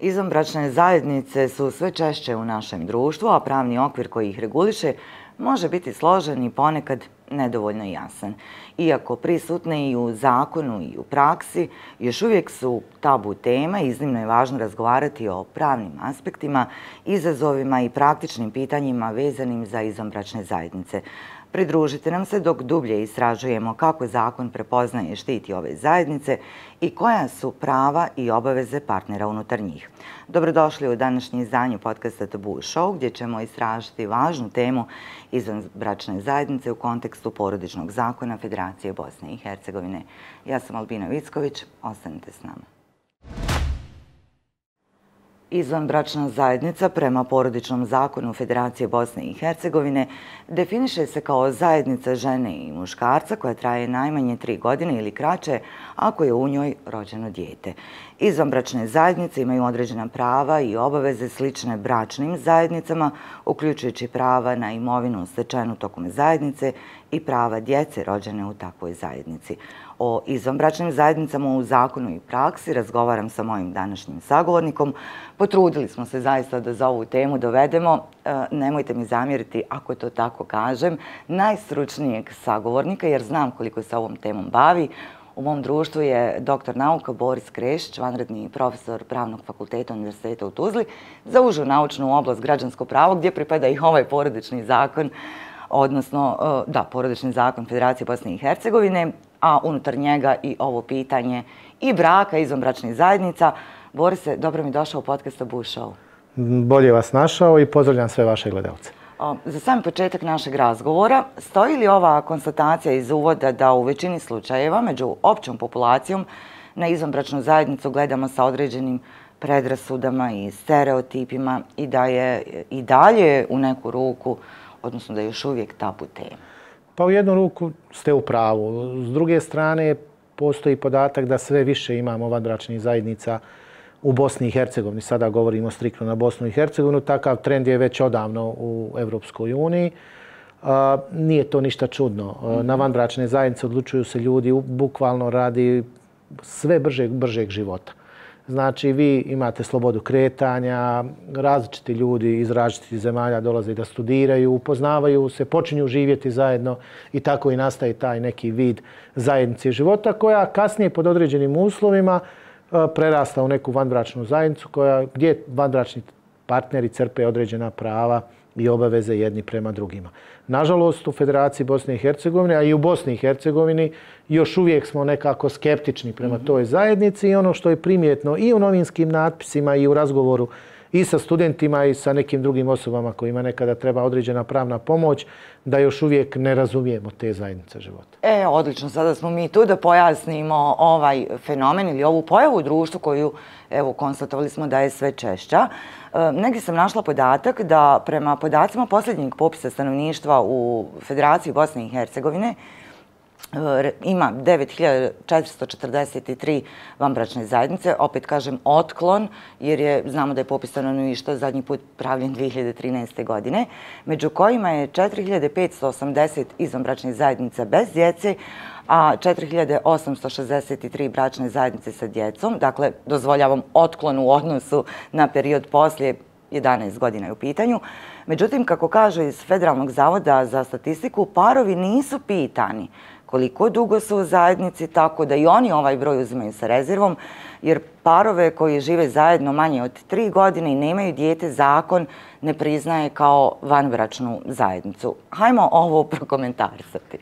Izvanbračne zajednice su sve češće u našem društvu, a pravni okvir koji ih reguliše može biti složen i ponekad nedovoljno jasan. Iako prisutne i u zakonu i u praksi, još uvijek su tabu tema i iznimno je važno razgovarati o pravnim aspektima, izazovima i praktičnim pitanjima vezanim za izvanbračne zajednice. Pridružite nam se dok dublje istražujemo kako zakon prepoznaje i štiti ove zajednice i koja su prava i obaveze partnera unutar njih. Dobrodošli u današnje izdanje podcasta Tabu Show, gdje ćemo istražiti važnu temu izvanbračne zajednice u kontekstu porodičnog zakona Federacije Bosne i Hercegovine. Ja sam Albina Vicković, ostanite s nama. Izvanbračna zajednica prema porodičnom zakonu Federacije Bosne i Hercegovine definiše se kao zajednica žene i muškarca koja traje najmanje 3 godine ili kraće ako je u njoj rođeno dijete. Izvanbračne zajednice imaju određena prava i obaveze slične bračnim zajednicama, uključujući prava na imovinu stečenu tokom zajednice i prava djece rođene u takvoj zajednici. O izvanbračnim zajednicama u zakonu i praksi razgovaram sa mojim današnjim sagovornikom. Potrudili smo se zaista da za ovu temu dovedemo, nemojte mi zamjeriti ako to tako kažem, najstručnijeg sagovornika, jer znam koliko se ovom temom bavi. U mom društvu je doktor nauka Boris Krešić, vanredni profesor Pravnog fakulteta Univerziteta u Tuzli, za užu naučnu oblast građansko pravo, gdje pripada i ovaj porodični zakon, odnosno, porodični zakon Federacije Bosne i Hercegovine, a unutar njega i ovo pitanje i braka, izvanbračnih zajednica. Borise, dobro mi došao u podcast Tabu Show. Bolje vas našao i pozdravljam sve vaše gledalce. Za sam početak našeg razgovora, stoji li ova konstatacija iz uvoda da u većini slučajeva među općom populacijom na izvanbračnu zajednicu gledamo sa određenim predrasudama i stereotipima i da je i dalje u neku ruku, odnosno da je još uvijek tabu tema? Pa u jednu ruku ste u pravu. S druge strane, postoji podatak da sve više imamo vanbračnih zajednica u Bosni i Hercegovini. Sada govorimo striktno na Bosnu i Hercegovinu. Takav trend je već odavno u Evropskoj uniji. Nije to ništa čudno. Na vanbračne zajednice odlučuju se ljudi bukvalno radi sve bržeg života. Znači, vi imate slobodu kretanja, različiti ljudi iz različitih zemalja dolaze da studiraju, upoznavaju se, počinju živjeti zajedno i tako i nastaje taj neki vid zajednice života koja kasnije pod određenim uslovima prerasta u neku vanbračnu zajednicu gdje vanbračni partneri crpe određena prava i obaveze jedni prema drugima. Nažalost, u Federaciji Bosne i Hercegovine, a i u Bosni i Hercegovini, još uvijek smo nekako skeptični prema toj zajednici i ono što je primjetno i u novinskim natpisima i u razgovoru i sa studentima i sa nekim drugim osobama kojima nekada treba određena pravna pomoć, da još uvijek ne razumijemo te zajednice života. Odlično, sada smo mi tu da pojasnimo ovaj fenomen ili ovu pojavu u društvu koju, evo, konstatovali smo da je sve češća. Negdje sam našla podatak da prema podacima posljednjeg popisa stanovništva u Federaciji Bosne i Hercegovine ima 9443 vanbračne zajednice, opet kažem otklon, jer znamo da je popis stanovništva zadnji put pravljen 2013. godine, među kojima je 4580 izvanbračnih zajednica bez djece, a 4863 bračne zajednice sa djecom. Dakle, dozvoljavam otklon u odnosu na period poslije 11 godina je u pitanju. Međutim, kako kažu iz Federalnog zavoda za statistiku, parovi nisu pitani koliko dugo su u zajednici, tako da i oni ovaj broj uzimaju sa rezervom, jer parove koji žive zajedno manje od 3 godine i nemaju dijete, zakon ne priznaje kao vanbračnu zajednicu. Hajmo ovo prokomentarisati.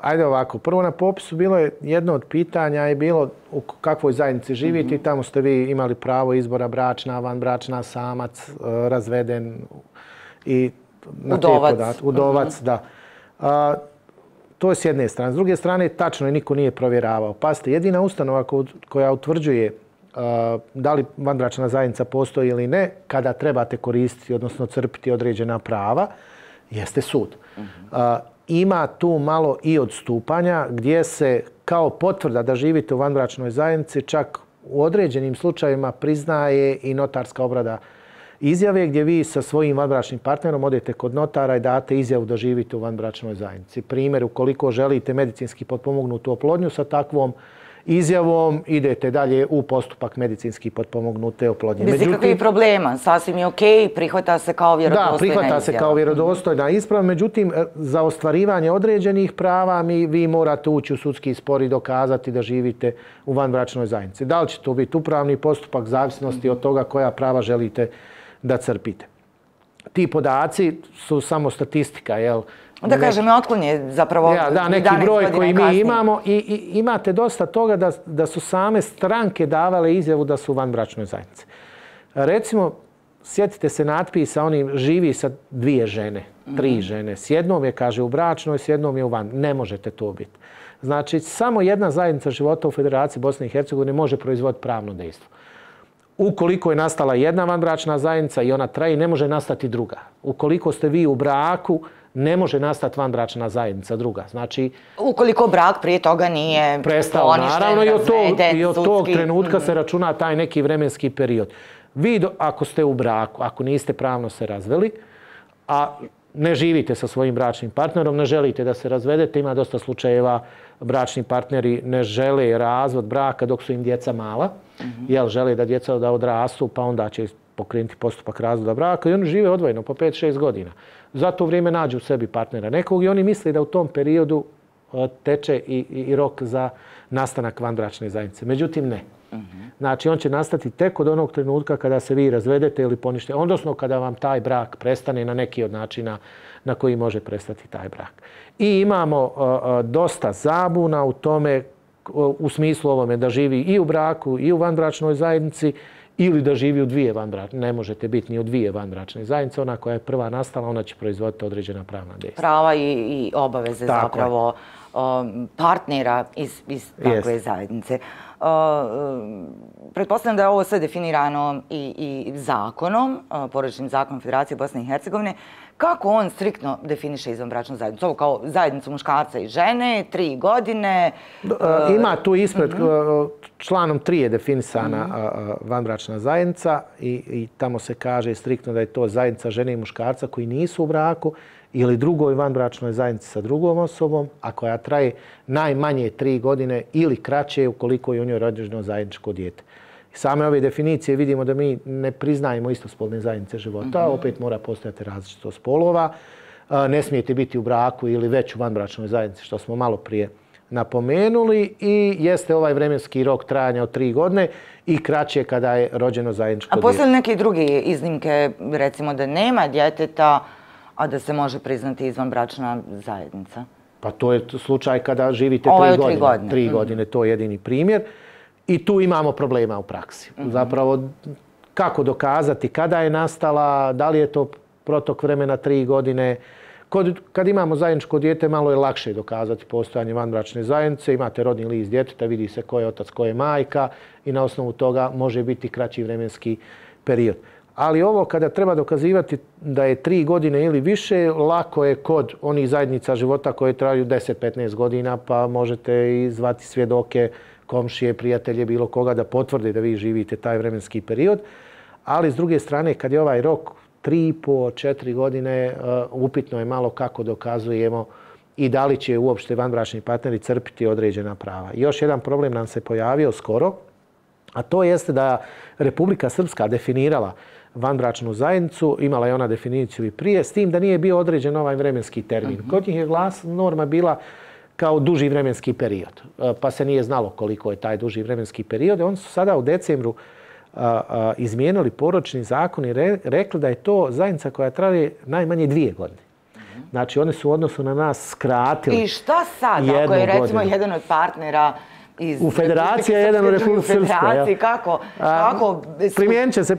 Ajde ovako, prvo na popisu bilo je jedno od pitanja je bilo u kakvoj zajednici živite i tamo ste vi imali pravo izbora bračna, vanbračna, samac, razveden i na udovac. Te podatke. Udovac, da. To je s jedne strane. S druge strane, tačno je, niko nije provjeravao. Pazite, jedina ustanova koja utvrđuje da li vanbračna zajednica postoji ili ne, kada trebate koristiti, odnosno crpiti određena prava, jeste sud. Ima tu malo i odstupanja gdje se kao potvrda da živite u vanbračnoj zajednici čak u određenim slučajevima priznaje i notarska obrada izjave gdje vi sa svojim vanbračnim partnerom odete kod notara i date izjavu da živite u vanbračnoj zajednici. Primjer, ukoliko želite medicinski potpomognutu oplodnju sa takvom izjavom idete dalje u postupak medicinski potpomognute oplodnje. Bez ikakvih problema, sasvim je okej, prihvata se kao vjerodostojna izjava. Da, prihvata se kao vjerodostojna isprava, međutim, za ostvarivanje određenih prava vi morate ući u sudski spor i dokazati da živite u vanbračnoj zajednici. Da li će to biti upravni postupak, zavisnosti od toga koja prava želite da crpite. Ti podaci su samo statistika, jel? Da kažem, otklon je zapravo 11 godina kasnije. Neki broj koji mi imamo i imate dosta toga da su same stranke davale izjavu da su u vanbračnoj zajednici. Recimo, sjetite se natpisa, oni živi sa 2 žene, 3 žene. S jednom je, kaže, u bračnoj, s jednom je u van. Ne možete to biti. Znači, samo jedna zajednica života u Federaciji Bosne i Hercegovine može proizvoditi pravno dejstvo. Ukoliko je nastala jedna vanbračna zajednica i ona traje, ne može nastati druga. Ukoliko ste vi u braku, ne može nastati vanbračna zajednica druga. Znači, ukoliko brak prije toga nije prestao, naravno, i od tog trenutka se računa taj neki vremenski period. Vi, ako ste u braku, ako niste pravno se razveli, a ne živite sa svojim bračnim partnerom, ne želite da se razvedete, ima dosta slučajeva bračni partneri ne žele razvod braka dok su im djeca mala, jer žele da djeca da odrastu, pa onda će pokrenuti postupak razvoda braka i oni žive odvojeno po 5-6 godina. Za to vrijeme nađu u sebi partnera nekog i oni misle da u tom periodu teče i rok za nastanak vanbračne zajednice. Međutim, ne. Znači, on će nastati tek od onog trenutka kada se vi razvedete ili poništite, odnosno kada vam taj brak prestane na neki od načina na koji može prestati taj brak. I imamo dosta zabuna u tome, u smislu ovome da živi i u braku i u vanbračnoj zajednici ili da živi u 2 vanbračne. Ne možete biti ni u 2 vanbračne zajednice. Ona koja je prva nastala, ona će proizvoditi određena pravna dejstva. Prava i obaveze zapravo partnera iz takve zajednice. Pretpostavljam da je ovo sve definirano i zakonom, porodičnim zakonom Federacije Bosne i Hercegovine. Kako on striktno definiše izvanbračnu zajednicu? Ovo kao zajednicu muškarca i žene, 3 godine. Ima tu ispred, članom 3 je definisana vanbračna zajednica i tamo se kaže striktno da je to zajednica žene i muškarca koji nisu u braku ili drugoj vanbračnoj zajednici sa drugom osobom, a koja traje najmanje 3 godine ili kraće ukoliko je u njoj rođeno zajedničko dijete. Same ove definicije vidimo da mi ne priznajemo istospolne zajednice života, opet mora postojati različitost spolova. Ne smijete biti u braku ili već u vanbračnoj zajednici, što smo malo prije napomenuli, i jeste ovaj vremenski rok trajanja od 3 godine i kraće kada je rođeno zajedničko dijete. A postoje li neke druge iznimke, recimo da nema djeteta, a da se može priznati izvanbračna zajednica? Pa to je slučaj kada živite 3 godine. 3 godine, to je jedini primjer. I tu imamo problema u praksi. Zapravo, kako dokazati kada je nastala, da li je to protok vremena 3 godine. Kad imamo zajedničko dijete, malo je lakše dokazati postojanje vanbračne zajednice. Imate rodni list djeteta, vidi se ko je otac, ko je majka i na osnovu toga može biti kraći vremenski period. Ali ovo kada treba dokazivati da je 3 godine ili više, lako je kod onih zajednica života koje traju 10-15 godina, pa možete i zvati svjedoke, komšije, prijatelje, bilo koga da potvrde da vi živite taj vremenski period. Ali s druge strane, kad je ovaj rok 3,5-4 godine, upitno je malo kako dokazujemo i da li će uopšte vanbračni partneri crpiti određena prava. Još jedan problem nam se pojavio skoro, a to jeste da Republika Srpska definirala vanbračnu zajednicu, imala je ona definiciju i prije, s tim da nije bio određen ovaj vremenski termin. Kod njih je norma bila kao duži vremenski period, pa se nije znalo koliko je taj duži vremenski period. Oni su sada u decembru izmijenili porodični zakon i rekli da je to zajednica koja traje najmanje 2 godine. Znači, oni su u odnosu na nas skratili 1 godinu. I šta sad, ako je recimo jedan od partnera u Federaciji, a jedan u Republike Srpskoj? Kako?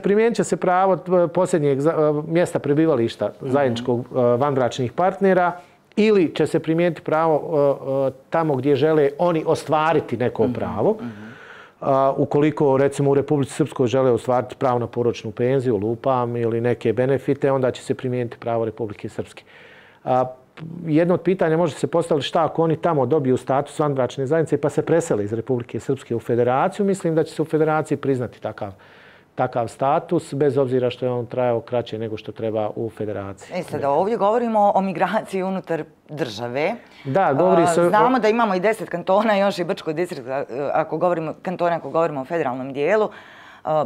Primijenit će se pravo posljednjeg mjesta prebivališta zajedničkog vanbračnih partnera ili će se primijeniti pravo tamo gdje žele oni ostvariti neko pravo. Ukoliko, recimo, u Republici Srpskoj žele ostvariti pravo na porodičnu penziju, lupam, ili neke benefite, onda će se primijeniti pravo Republike Srpske. Jedno od pitanja može se postaviti šta ako oni tamo dobiju status vanbračne zajednice pa se presele iz Republike Srpske u Federaciju. Mislim da će se u Federaciji priznati takav takav status, bez obzira što je on trajao kraće nego što treba u federaciji. Sada ovdje govorimo o migraciji unutar države. Da, govori se... Znamo da imamo i 10 kantona, još i Brčko distrikt, ako govorimo o federalnom dijelu.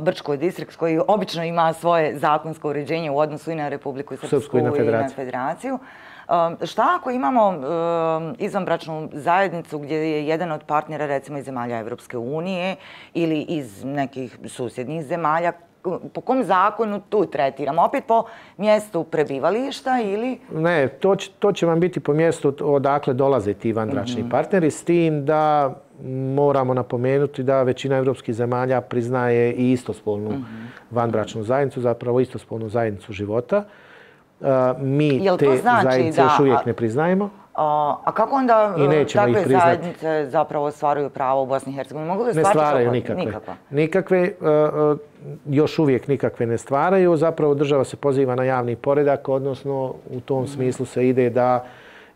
Brčko distrikt koji obično ima svoje zakonsko uređenje u odnosu i na Republiku Srpsku i na federaciju. Šta ako imamo izvanbračnu zajednicu gdje je jedan od partnera recimo iz zemalja Evropske unije ili iz nekih susjednih zemalja, po kom zakonu tu tretiramo? Opet po mjestu prebivališta ili... Ne, to će vam biti po mjestu odakle dolaze ti vanbračni partneri, s tim da moramo napomenuti da većina evropskih zemalja priznaje i istospolnu vanbračnu zajednicu, zapravo istospolnu zajednicu života. Mi te zajednice još uvijek ne priznajemo. A kako onda takve zajednice zapravo ostvaruju pravo u Bosni i Hercegovini? Ne stvaraju nikakve. Još uvijek nikakve ne stvaraju. Zapravo država se poziva na javni poredak, odnosno u tom smislu se ide da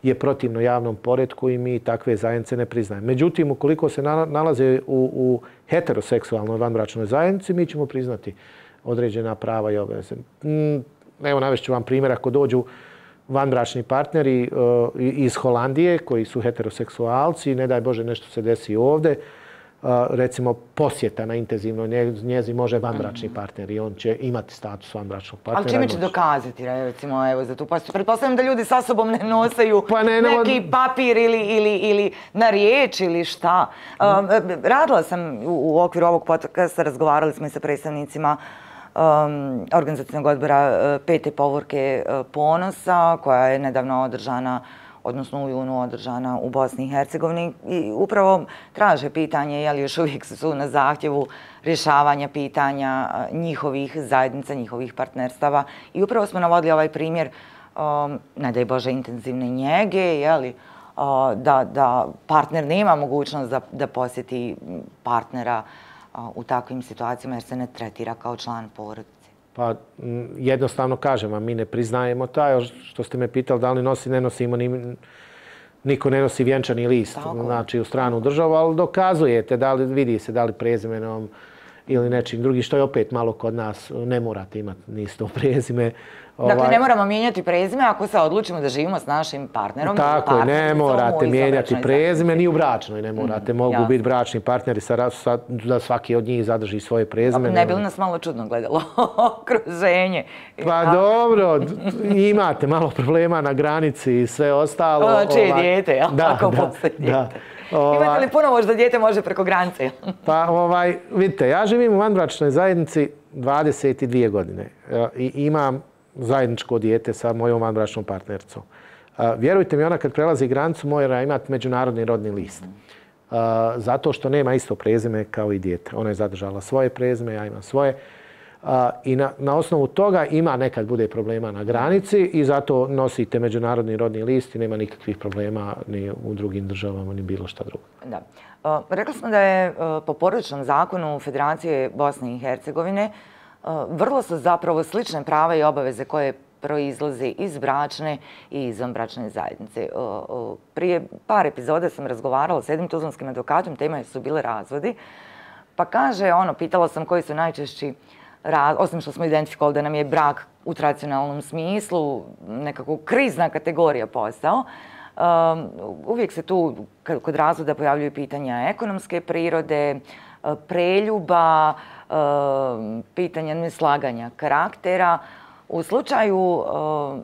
je protivno javnom poretku i mi takve zajednice ne priznajemo. Međutim, ukoliko se nalaze u heteroseksualnoj vanbračnoj zajednici, mi ćemo priznati određena prava i obaveze. Evo, navešću vam primjer, ako dođu vanbračni partneri iz Holandije koji su heteroseksualci, ne daj Bože nešto se desi ovdje, recimo posjeta na intenzivnoj njezi može vanbračni partner i on će imati status vanbračnog partnera. Ali čime će dokazati, recimo, evo, za tu posjetu? Pretpostavljam da ljudi sa sobom ne nosaju neki papir ili na riječ ili šta. Radila sam u okviru ovog podcasta, razgovarali smo i sa predstavnicima organizacijnog odbora Pete povorke Ponosa, koja je nedavno održana, odnosno u junu održana u Bosni i Hercegovini, i upravo traže pitanje je li još uvijek su na zahtjevu rješavanja pitanja njihovih zajednica, njihovih partnerstava. I upravo smo navodili ovaj primjer, ne daj Bože, intenzivne njege, da partner nema mogućnost da posjeti partnera u takvim situacijama jer se ne tretira kao član porodice. Pa jednostavno kažem vam, mi ne priznajemo taj, što ste me pitali da li nosi, ne nosimo, niko ne nosi vjenčani list, znači u stranu državu, ali dokazujete, vidi se da li prezimenom ili nečim drugim, što je opet malo kod nas, ne morate imati ni isto prezime. Dakle, ne moramo mijenjati prezime ako se odlučimo da živimo s našim partnerom. Tako je, ne morate mijenjati prezime, ni u bračnoj ne morate. Mogu biti bračni partneri da svaki od njih zadrži svoje prezime. Ne bi li nas malo čudno gledalo okruženje? Pa dobro, imate malo problema na granici i sve ostalo. Čije dijete, jel? Ako postoji dijete. Imate li puno možda dijete može preko granice? Pa vidite, ja živim u vanbračnoj zajednici 22 godine i imam zajedničko dijete sa mojom vanbračnom partnericom. Vjerujte mi, ona kad prelazi granicu mora imati međunarodni rodni list. Zato što nema isto prezime kao i dijete. Ona je zadržala svoje prezime, ja imam svoje. I na osnovu toga ima nekad bude problema na granici i zato nosite međunarodni rodni list i nema nikakvih problema ni u drugim državama ni bilo šta drugo. Da. Rekli smo da je po porodičnom zakonu Federacije Bosne i Hercegovine vrlo su zapravo slične prava i obaveze koje proizlaze iz bračne i izvanbračne zajednice. Prije par epizoda sam razgovarala s jednim tuzlanskim advokatom, tema su bile razvodi, pa kaže, pitala sam koji su najčešći, osim što smo identifikovali da nam je brak u tradicionalnom smislu nekako krizna kategorija postao, uvijek se tu kod razvoda pojavljuju pitanja ekonomske prirode, preljuba, pitanja neslaganja karaktera. U slučaju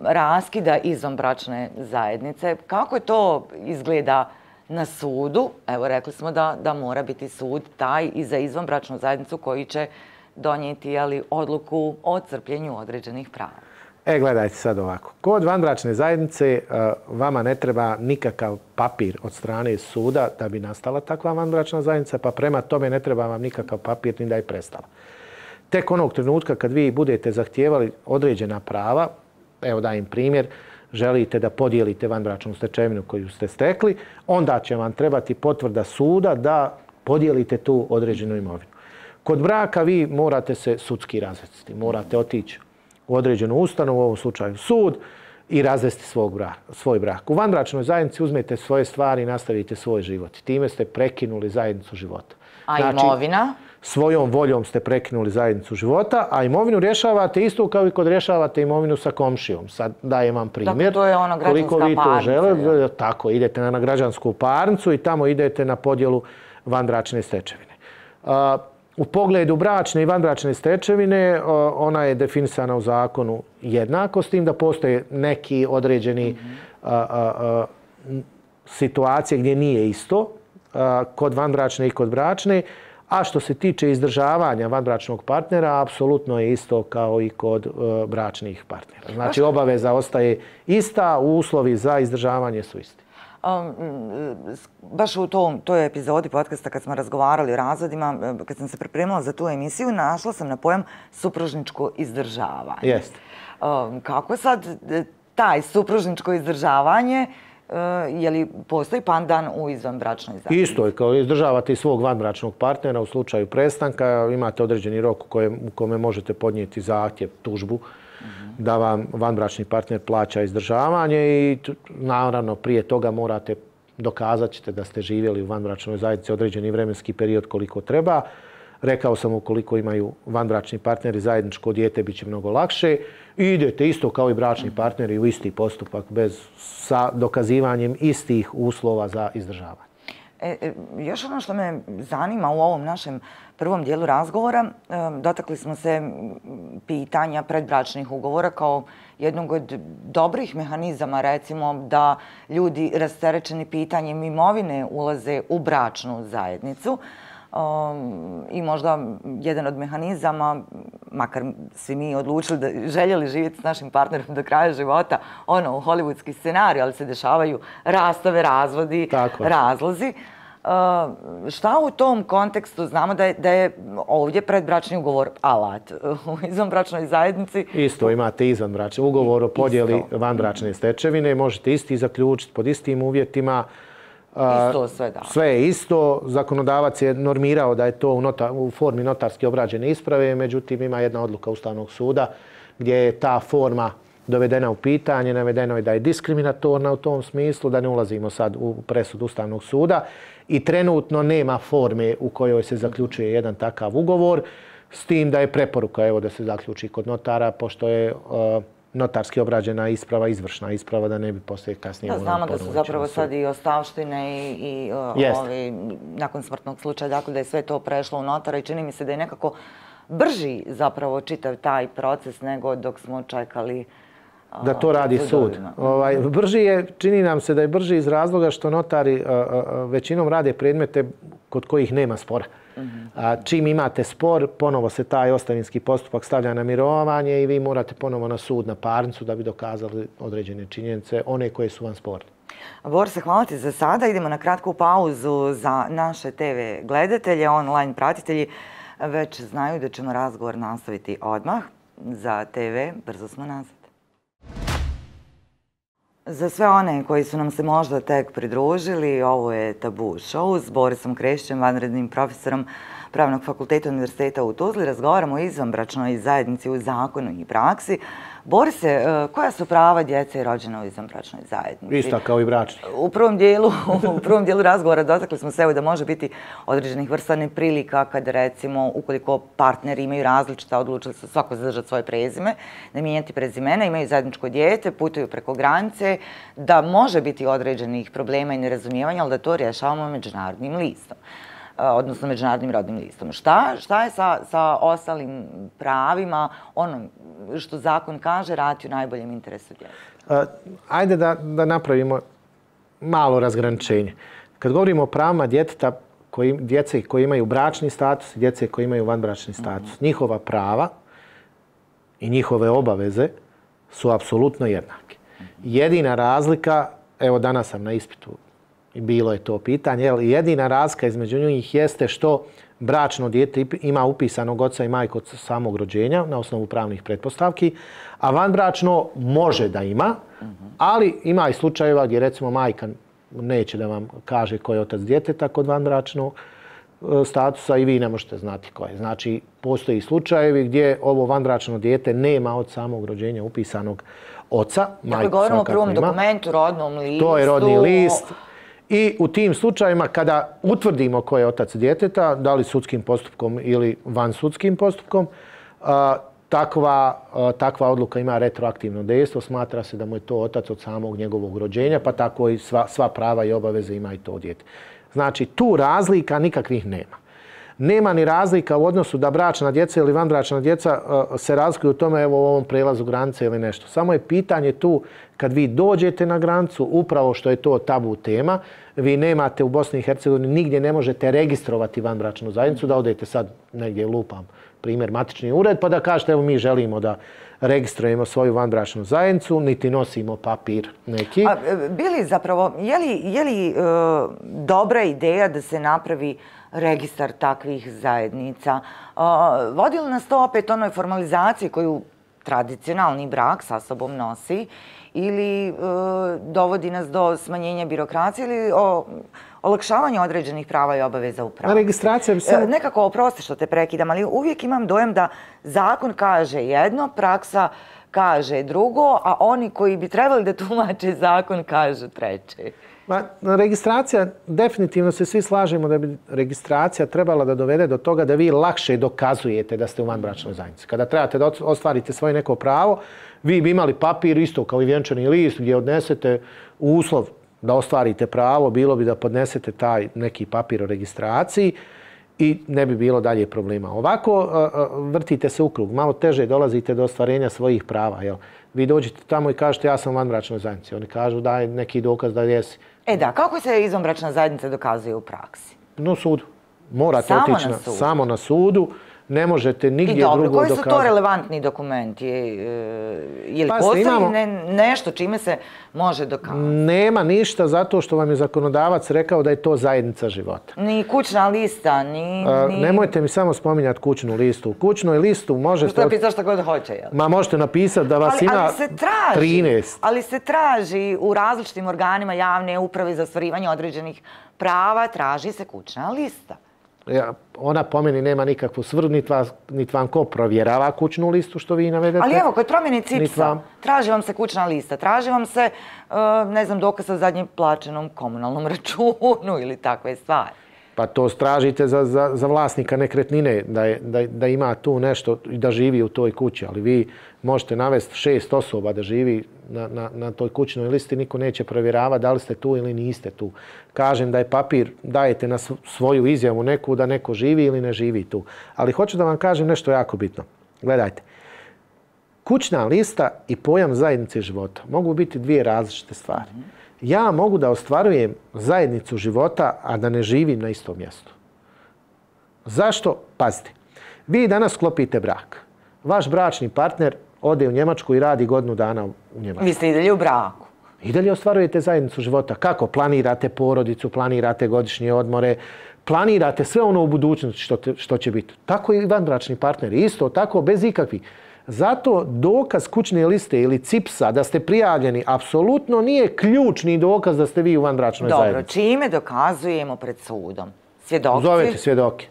raskida izvanbračne zajednice, kako to izgleda na sudu? Evo, rekli smo da mora biti sud taj i za izvanbračnu zajednicu koji će donijeti odluku o crpljenju određenih prava. Gledajte sad ovako. Kod vanbračne zajednice vama ne treba nikakav papir od strane suda da bi nastala takva vanbračna zajednica, pa prema tome ne treba vam nikakav papir ni da je prestala. Tek onog trenutka kad vi budete zahtijevali određena prava, evo dajem primjer, želite da podijelite vanbračnu stečevinu koju ste stekli, onda će vam trebati potvrda suda da podijelite tu određenu imovinu. Kod braka vi morate se sudski razvesti, morate otići u određenu ustanovu, u ovom slučaju sud, i razvesti svoj brak. U vanbračnoj zajednici uzmete svoje stvari i nastavite svoj život. Time ste prekinuli zajednicu života. A imovina? svojom voljom ste prekinuli zajednicu života, a imovinu rješavate isto kao i kod rješavate imovinu sa komšijom. Sad dajem vam primjer. Dakle, to je ona građanska parnica. Koliko vi to žele, tako, idete na građansku parnicu i tamo idete na podjelu vanbračne stečevine. U pogledu bračne i vanbračne stečevine ona je definisana u zakonu jednako, s tim da postoje neki određeni situacije gdje nije isto kod vanbračne i kod bračne, a što se tiče izdržavanja vanbračnog partnera, apsolutno je isto kao i kod bračnih partnera. Znači obaveza ostaje ista, uslovi za izdržavanje su isti. Baš u toj epizodi podcasta kad smo razgovarali o razvodima, kad sam se pripremila za tu emisiju, našla sam na pojam supružničko izdržavanje. Jeste. Kako sad taj supružničko izdržavanje, je li postoji pandan u izvanbračnoj zajednici? Isto je, kao izdržavate i svog vanbračnog partnera u slučaju prestanka, imate određeni rok u kome možete podnijeti zahtjev, tužbu, da vam vanbračni partner plaća izdržavanje i naravno prije toga morate dokazat ćete da ste živjeli u vanbračnoj zajednici određeni vremenski period koliko treba. Rekao sam ukoliko imaju vanbračni partneri zajedničko dijete bit će mnogo lakše. I idete isto kao i bračni partneri u isti postupak sa dokazivanjem istih uslova za izdržavanje. Još ono što me zanima u ovom našem prvom dijelu razgovora, dotakli smo se pitanja predbračnih ugovora kao jednog od dobrih mehanizama, recimo, da ljudi rasterećeni pitanjem imovine ulaze u bračnu zajednicu. I možda jedan od mehanizama, makar svi mi odlučili da željeli živjeti s našim partnerom do kraja života, u hollywoodski scenarij, ali se dešavaju rastave, razvodi, razlozi. Šta u tom kontekstu znamo da je ovdje predbračni ugovor alat u izvanbračnoj zajednici? Isto imate izvanbračni ugovor o podjeli vanbračne stečevine, možete isti zaključiti pod istim uvjetima. Isto sve, da. Sve je isto. Zakonodavac je normirao da je to u formi notarski obrađene isprave, međutim ima jedna odluka Ustavnog suda gdje je ta forma dovedena u pitanje, navedeno je da je diskriminatorna u tom smislu, da ne ulazimo sad u presud Ustavnog suda i trenutno nema forme u kojoj se zaključuje jedan takav ugovor, s tim da je preporuka da se zaključi kod notara, pošto je notarski obrađena isprava, izvršna isprava, da ne bi poslije kasnije... Da, znamo da su zapravo sad i ostavštine i nakon smrtnog slučaja, dakle da je sve to prešlo u notara i čini mi se da je nekako brži zapravo čitav taj proces nego dok smo čekali... Da to radi sud. Brži je, čini nam se da je brži iz razloga što notari većinom rade predmete kod kojih nema spora. Čim imate spor, ponovo se taj ostavinski postupak stavlja na mirovanje i vi morate ponovo na sud, na parnicu da bi dokazali određene činjenice, one koje su vam sporne. Borise, hvala ti za sada. Idemo na kratku pauzu za naše TV gledatelje, online pratitelji. Već znaju da ćemo razgovor nastaviti odmah. Za TV brzo smo nazad. Za sve one koji su nam se možda tek pridružili, ovo je Tabu show s Borisom Krešićem, vanrednim profesorom Pravnog fakulteta Univerziteta u Tuzli. Razgovaramo o izvanbračnoj zajednici u zakonu i praksi. Borise, koja su prava djece rođena u izvanbračnoj zajednici? Ista kao i bračni. U prvom dijelu razgovora dotakli smo se da može biti određenih vrsta neprilika kada recimo ukoliko partneri imaju različita, odlučili su svako zadržati svoje prezime, ne mijenjati prezimena, imaju zajedničko dijete, putuju preko granice, da može biti određenih problema i nerazumijevanja, ali da to rješavamo međunarodnim listom, odnosno međunarodnim rodnim listom. Šta je sa ostalim pravima, ono što zakon kaže, raditi u najboljem interesu djeteta? Ajde da napravimo malo razgraničenje. Kad govorimo o pravima djeteta, djece koji imaju bračni status i djece koji imaju vanbračni status, njihova prava i njihove obaveze su apsolutno jednake. Jedina razlika, evo danas sam na ispitu i bilo je to pitanje, jedina razlika između njih jeste što bračno dijete ima upisanog oca i majku od samog rođenja na osnovu pravnih pretpostavki, a vanbračno može da ima, ali ima i slučajeva gdje recimo majka neće da vam kaže ko je otac djeteta kod vanbračnog statusa i vi ne možete znati ko je. Znači, postoji slučajevi gdje ovo vanbračno dijete nema od samog rođenja upisanog oca. Dakle, govorimo o prvom dokumentu, rodnom listu. To je rodni list. I u tim slučajima kada utvrdimo ko je otac djeteta, da li sudskim postupkom ili vansudskim postupkom, takva odluka ima retroaktivno dejstvo. Smatra se da mu je to otac od samog njegovog rođenja, pa tako i sva prava i obaveze ima i to dijete. Znači, tu razlika nikakvih nema. Nema ni razlika u odnosu da bračna djeca ili vanbračna djeca se razlikuju u tome, evo, u ovom prelazu granice ili nešto. Samo je pitanje tu, kad vi dođete na granicu, upravo što je to tabu tema, vi nemate u Bosni i Hercegovini, nigdje ne možete registrovati vanbračnu zajednicu, da odete sad negdje, lupam primjer, matični ured, pa da kažete, evo, mi želimo da registrujemo svoju vanbračnu zajednicu, niti nosimo papir neki. Bili zapravo, je li dobra ideja da se napravi registar takvih zajednica? Vodi li nas to opet onoj formalizaciji koju tradicionalni brak sa sobom nosi ili dovodi nas do smanjenja birokracije ili olakšavanja određenih prava i obaveza u pravu? Registracija bi samo... Nekako, oprosti što te prekidam, ali uvijek imam dojam da zakon kaže jedno, praksa kaže drugo, a oni koji bi trebali da tumače zakon kažu treće. Registracija, definitivno se svi slažemo da bi registracija trebala da dovede do toga da vi lakše dokazujete da ste u vanbračnoj zajednici. Kada trebate da ostvarite svoje neko pravo, vi bi imali papir isto kao i vjenčani list gdje odnesete uslov da ostvarite pravo, bilo bi da podnesete taj neki papir o registraciji i ne bi bilo dalje problema. Ovako vrtite se u krug, malo teže dolazite do ostvarenja svojih prava. Jel? Vi dođete tamo i kažete ja sam u vanbračnoj zajednici. Oni kažu daj neki dokaz da jesi. Da, kako se izvanbračna zajednica dokazuje u praksi? Na sudu. Morate otići samo na sudu. Ne možete nigdje drugo dokazati. Koji su to relevantni dokumenti? Je li postoji nešto čime se može dokazati? Nema ništa zato što vam je zakonodavac rekao da je to zajednica života. Ni kućna lista, ni... Nemojte mi samo spominjati kućnu listu. U kućnoj listu možete... Što napisati što god hoće, jel? Ma možete napisati da vas ima 13. Ali se traži u različitim organima javne uprave za ostvarivanje određenih prava, traži se kućna lista. Ona po meni nema nikakvu svrhu, niti vam ko provjerava kućnu listu što vi navedete. Ali evo, kod promjene CIPS-a traži vam se kućna lista, traži vam se, ne znam, dokaz o zadnjem plaćenom komunalnom računu ili takve stvari. Pa to tražite za vlasnika nekretnine, da ima tu nešto i da živi u toj kući. Ali vi možete navesti 6 osoba da živi na toj kućnoj listi, niko neće provjeravati da li ste tu ili niste tu. Kažem da je papir, dajete na svoju izjavu neku da neko živi ili ne živi tu. Ali hoću da vam kažem nešto jako bitno. Gledajte, kućna lista i pojam zajednice života mogu biti dvije različite stvari. Ja mogu da ostvarujem zajednicu života, a da ne živim na istom mjestu. Zašto? Pazite, vi danas sklopite brak. Vaš bračni partner ode u Njemačku i radi godinu dana u Njemačku. Vi ste i dalje u braku. I dalje ostvarujete zajednicu života. Kako? Planirate porodicu, planirate godišnje odmore, planirate sve ono u budućnosti što će biti. Tako i vanbračni partner. Isto tako, bez ikakvih. Zato dokaz kućne liste ili CIPS-a da ste prijavljeni apsolutno nije ključni dokaz da ste vi u vanbračnoj zajednici. Dobro, čime dokazujemo pred sudom? Svjedoci? Zovete svjedoke.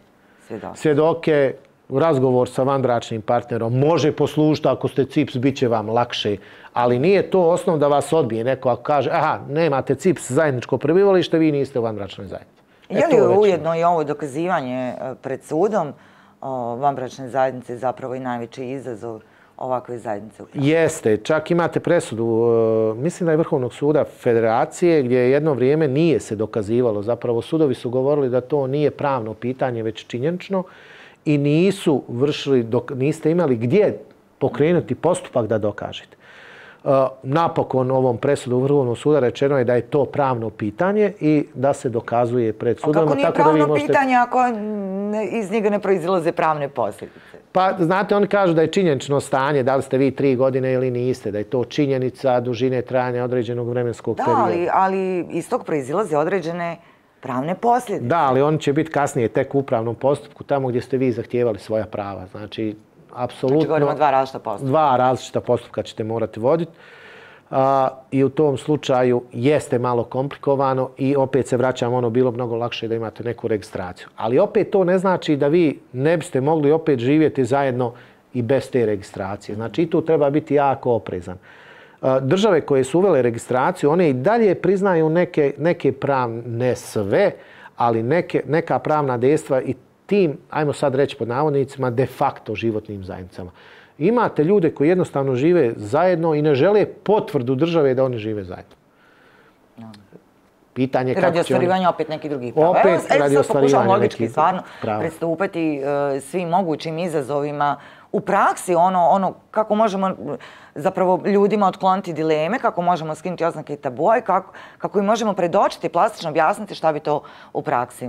Svjedoke, razgovor sa vanbračnim partnerom može poslužiti ako ste CIPS, bit će vam lakše, ali nije to osnov da vas odbije. Neko ako kaže, aha, nemate CIPS, zajedničko prebivalište, vi niste u vanbračnoj zajednici. Je li ujedno i ovo dokazivanje pred sudom vanbračne zajednice zapravo i najveći izazov ovakve zajednice? Jeste, čak imate presudu, mislim da je Vrhovnog suda Federacije, gdje jedno vrijeme nije se dokazivalo. Zapravo sudovi su govorili da to nije pravno pitanje, već činjenično i niste imali gdje pokrenuti postupak da dokažete. Napokon ovom presudu Vrhovnog suda rečeno je da je to pravno pitanje i da se dokazuje pred sudom. Kako nije pravno pitanje ako iz njega ne proizilaze pravne posljedice? Pa, znate, oni kažu da je činjenično stanje, da li ste vi 3 godine ili niste, da je to činjenica dužine trajanja određenog vremenskog perioda. Da, ali iz tog proizilaze određene pravne posljedice. Da, ali oni će biti kasnije tek u upravnom postupku, tamo gdje ste vi zahtijevali svoja prava. Znači, apsolutno... Znači, govorimo 2 različita postupka. 2 različita postupka ćete morati voditi. I u tom slučaju jeste malo komplikovano i opet se vraćam, ono bilo mnogo lakše da imate neku registraciju. Ali opet to ne znači da vi ne biste mogli opet živjeti zajedno i bez te registracije. Znači i tu treba biti jako oprezan. države koje su uvele registraciju, one i dalje priznaju neke pravne, ne sve, ali neka pravna dejstva i tim, ajmo sad reći pod navodnicima, de facto životnim zajednicama. Imate ljude koji jednostavno žive zajedno i ne žele potvrdu države da oni žive zajedno. Pitanje radi ostvarivanja opet nekih drugih prava. Opet radi ostvarivanja logički, stvarno, pristupati svim mogućim izazovima u praksi, ono kako možemo zapravo ljudima otkloniti dileme, kako možemo skinuti oznake i tabua i kako im možemo predočiti, plastično objasniti šta bi to u praksi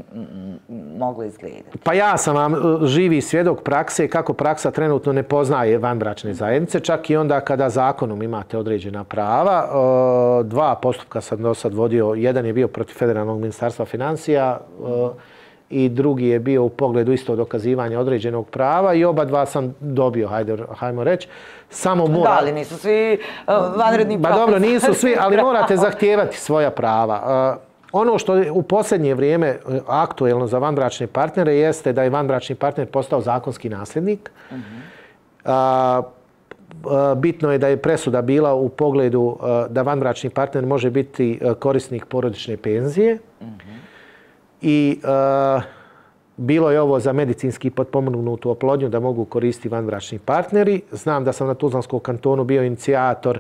moglo izgledati. Pa ja sam vam živi svjedok prakse kako praksa trenutno ne poznaje vanbračne zajednice, čak i onda kada zakonom imate određena prava. 2 postupka sam do sad vodio, jedan je bio protiv Federalnog ministarstva financija, i drugi je bio u pogledu isto dokazivanja određenog prava i oba dva sam dobio, hajmo reći. Samo mora... Da, ali nisu svi vanredni propisi. Ba dobro, nisu svi, ali morate zahtijevati svoja prava. Ono što je u posljednje vrijeme aktuelno za vanbračne partnere jeste da je vanbračni partner postao zakonski nasljednik. Bitno je da je presuda bila u pogledu da vanbračni partner može biti korisnik porodične penzije. I bilo je ovo za medicinski potpomognutu oplodnju da mogu koristiti vanbračni partneri. Znam da sam na Tuzlanskom kantonu bio inicijator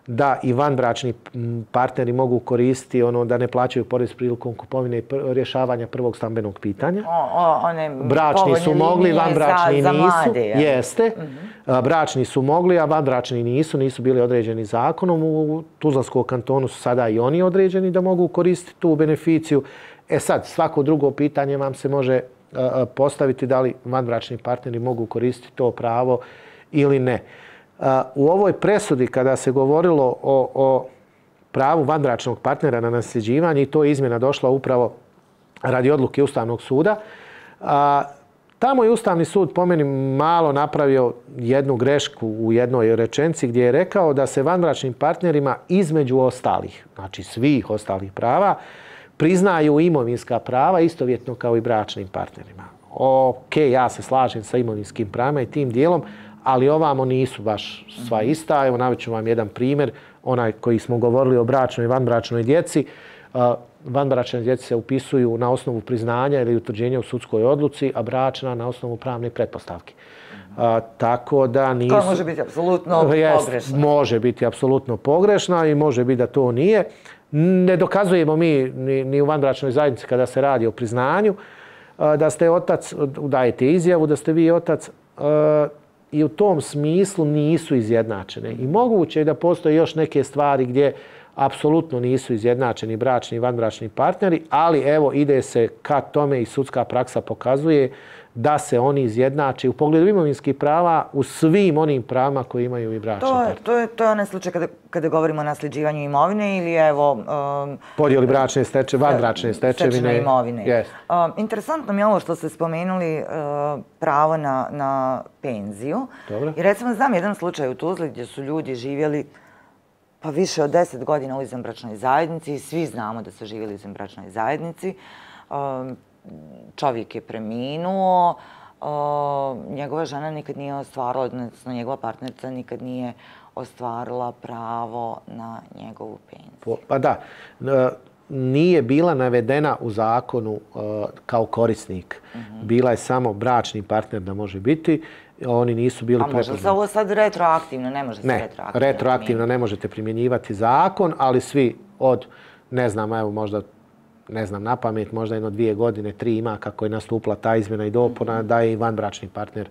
da i vanbračni partneri mogu koristiti da ne plaćaju porez prilikom kupovine i rješavanja prvog stambenog pitanja. Bračni su mogli, vanbračni nisu. Jeste. Bračni su mogli, a vanbračni nisu bili određeni zakonom. U Tuzlanskom kantonu su sada i oni određeni da mogu koristiti tu beneficiju. Sad, svako drugo pitanje vam se može postaviti da li vanbračni partneri mogu koristiti to pravo ili ne. U ovoj presudi kada se govorilo o pravu vanbračnog partnera na nasljeđivanje, i to je izmjena došla upravo radi odluke Ustavnog suda, tamo je Ustavni sud po meni malo napravio jednu grešku u jednoj rečenici gdje je rekao da se vanbračnim partnerima između ostalih, znači svih ostalih prava, priznaju imovinska prava istovjetno kao i bračnim partnerima. Ok, ja se slažem sa imovinskim pravima i tim dijelom, ali ovamo nisu baš sva ista. Evo, navest ću vam jedan primjer, onaj koji smo govorili o bračnoj i vanbračnoj djeci. Vanbračne djeci se upisuju na osnovu priznanja ili utvrđenja u sudskoj odluci, a bračna na osnovu pravne pretpostavke. Tako da nisu... To može biti apsolutno pogrešno. Može biti apsolutno pogrešna i može biti da to nije. Ne dokazujemo mi ni u vanbračnoj zajednici kada se radi o priznanju da ste otac, dajete izjavu da ste vi otac, i u tom smislu nisu izjednačene. I moguće je da postoje još neke stvari gdje apsolutno nisu izjednačeni bračni i vanbračni partneri, ali evo ide se ka tome i sudska praksa pokazuje da se oni izjednače u pogledu imovinskih prava u svim onim pravima koje imaju i bračni partneri. To je onaj slučaj kada govorimo o nasljeđivanju imovine ili evo... podijeli bračne stečevine, vanbračne stečevine. Imovine. Interesantno mi je ovo što ste spomenuli pravo na penziju. I recimo znam jedan slučaj u Tuzli gdje su ljudi živjeli pa više od 10 godina u izvanbračnoj zajednici i svi znamo da su živjeli u izvanbračnoj zajednici. Čovjek je preminuo, njegova žena nikad nije ostvarila, odnosno njegova partnerica nikad nije ostvarila pravo na njegovu penziju. Pa da, nije bila navedena u zakonu kao korisnik. Bila je samo bračni partner da može biti. Oni nisu bili prepoznati. A može se ovo sad retroaktivno? Ne može se retroaktivno. Ne, retroaktivno ne možete primjenjivati zakon, ali svi od, ne znam, evo možda, ne znam, na pamet, možda 1-2 godine, 3 ima kako je nastupila ta izmjena i dopuna, da je i vanbračni partner